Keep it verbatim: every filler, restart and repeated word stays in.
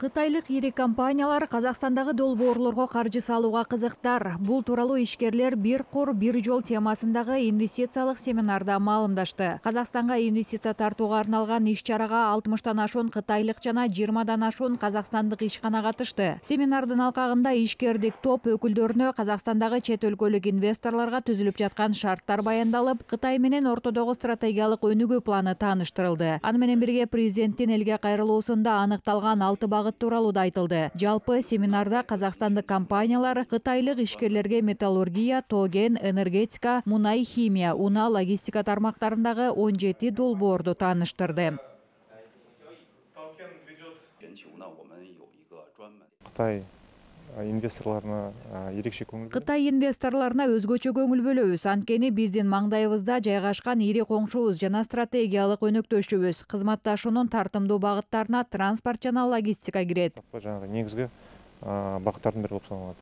Кытайлык ири компаниялар Казакстандагы долбоорлорго каржы салууга кызыктар. Бул тууралуу ишкерлер бир кур бир жол темасындагы инвестициялык семинарда маалымдашты. Казакстанга инвестиция тартууга арналган иш-чарага алтымыштан ашуун кытайлык жана жыйырмадан ашуун казакстандык ишкана катышты. Семинардын алкагында ишкердик топ өкүлдөрүнө Казакстандагы чет өлкөлүк инвесторлорго түзүлүп жаткан шарттар баяндалып, Кытай менен ортодогу стратегиялык өнүгүү планы тааныштырылды. Аны менен бирге президенттин элге кайрылуусунда аныкталган алты багыт тууралуу да айтылды. Жалпы семинарда казакстандык компаниялар кытайлык ишкерлерге металлургия, тоген, энергетика, мунай, химия, унаа, логистика тармактарындагы он жети долбоорду тааныштырды. Кытай инвесторлоруна ерекше көңүл Кытай инвесторлоруна өзгөчө көңүл бөлөбүз. Анткени биздин маңдайыбызда жайгашкан ири коңшубуз жана стратегиялык өнөктөшүбүз. Кызматташуунун тартымдуу багыттарына транспорт жана логистика кирет. Жанагы негизги багыттардын бири болуп саналат.